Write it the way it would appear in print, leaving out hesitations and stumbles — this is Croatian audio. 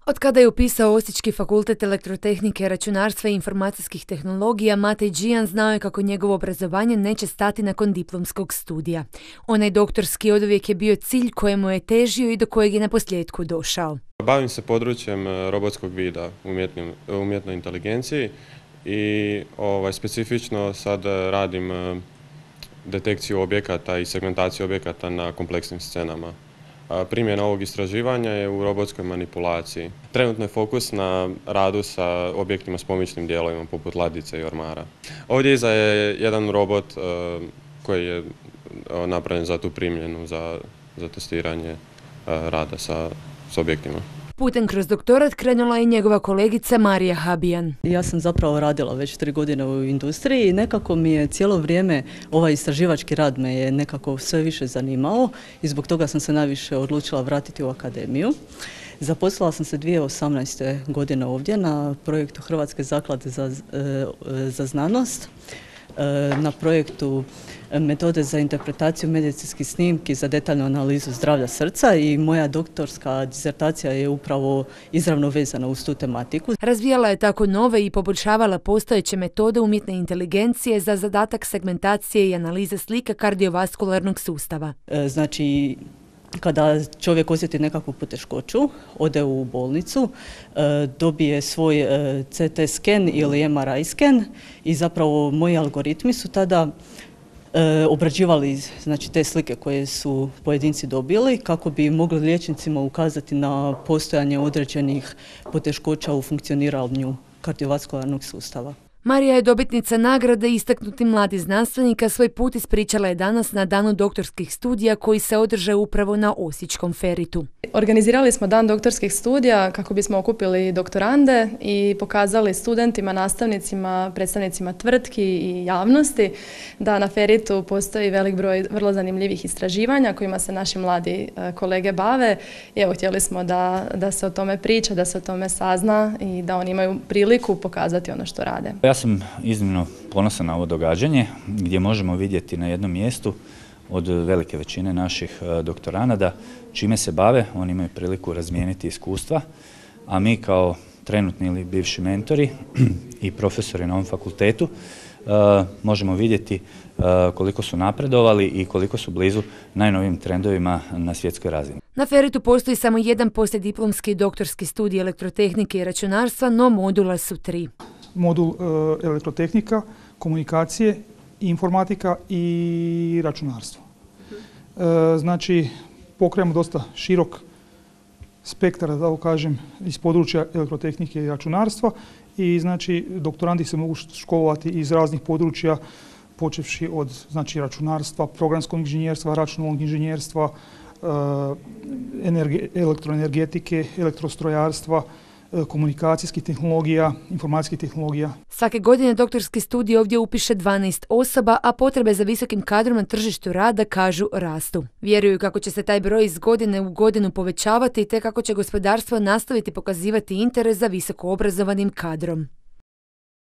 Od kada je upisao Osječki fakultet elektrotehnike, računarstva i informacijskih tehnologija, Matej Džijan znao je kako njegovo obrazovanje neće stati nakon diplomskog studija. Onaj doktorski oduvijek je bio cilj kojemu je težio i do kojeg je naposljetku došao. Bavim se područjem robotskog vida u umjetnoj inteligenciji i specifično sad radim detekciju objekata i segmentaciju objekata na kompleksnim scenama. Primjena ovog istraživanja je u robotskoj manipulaciji. Trenutno je fokus na radu sa objektima s pomičnim dijelovima poput ladice i ormara. Ovdje iza je jedan robot koji je napravljen za tu primjenu, za testiranje rada s objektima. Putem kroz doktorat krenula je njegova kolegica Marija Habijan. Ja sam zapravo radila već 3 godine u industriji i nekako mi je cijelo vrijeme ovaj istraživački rad me je nekako sve više zanimao i zbog toga sam se najviše odlučila vratiti u akademiju. Zaposlila sam se 2018. godine ovdje na projektu Hrvatske zaklade za znanost, na projektu metode za interpretaciju medicinskih snimki za detaljnu analizu zdravlja srca i moja doktorska disertacija je upravo izravno vezana uz tu tematiku. Razvijala je tako nove i poboljšavala postojeće metode umjetne inteligencije za zadatak segmentacije i analize slika kardiovaskularnog sustava. Znači, kada čovjek osjeti nekakvu poteškoću, ode u bolnicu, dobije svoj CT sken ili MRI sken i zapravo moji algoritmi su tada obrađivali te slike koje su pojedinci dobili kako bi mogli liječnicima ukazati na postojanje određenih poteškoća u funkcioniranju kardiovaskularnog sustava. Marija je dobitnica nagrade Istaknuti mladi znanstvenika. Svoj put ispričala je danas na danu doktorskih studija koji se održao upravo na Osječkom Feritu. Organizirali smo dan doktorskih studija kako bismo okupili doktorande i pokazali studentima, nastavnicima, predstavnicima tvrtki i javnosti da na Feritu postoji velik broj vrlo zanimljivih istraživanja kojima se naši mladi kolege bave. I evo, htjeli smo da se o tome priča, da se o tome sazna i da oni imaju priliku pokazati ono što rade. Ja sam iznimno ponosan na ovo događanje gdje možemo vidjeti na jednom mjestu od velike većine naših doktoranada čime se bave. Oni imaju priliku razmijeniti iskustva, a mi kao trenutni ili bivši mentori i profesori na ovom fakultetu možemo vidjeti koliko su napredovali i koliko su blizu najnovijim trendovima na svjetskoj razini. Na Feritu postoji samo jedan poslijediplomski doktorski studij elektrotehnike i računarstva, no modula su 3. Modul elektrotehnika, komunikacije, informatika i računarstvo. Znači, pokrijemo dosta širok spektar, da tako kažem, iz područja elektrotehnike i računarstva i znači doktorandi se mogu školovati iz raznih područja, počevši od računarstva, programskog inženjerstva, računalnog inženjerstva, elektroenergetike, elektrostrojarstva, komunikacijskih tehnologija, informacijskih tehnologija. Svake godine doktorski studij ovdje upiše 12 osoba, a potrebe za visokim kadrom na tržištu rada, kažu, rastu. Vjeruju kako će se taj broj iz godine u godinu povećavati te kako će gospodarstvo nastaviti pokazivati interes za visoko obrazovanim kadrom.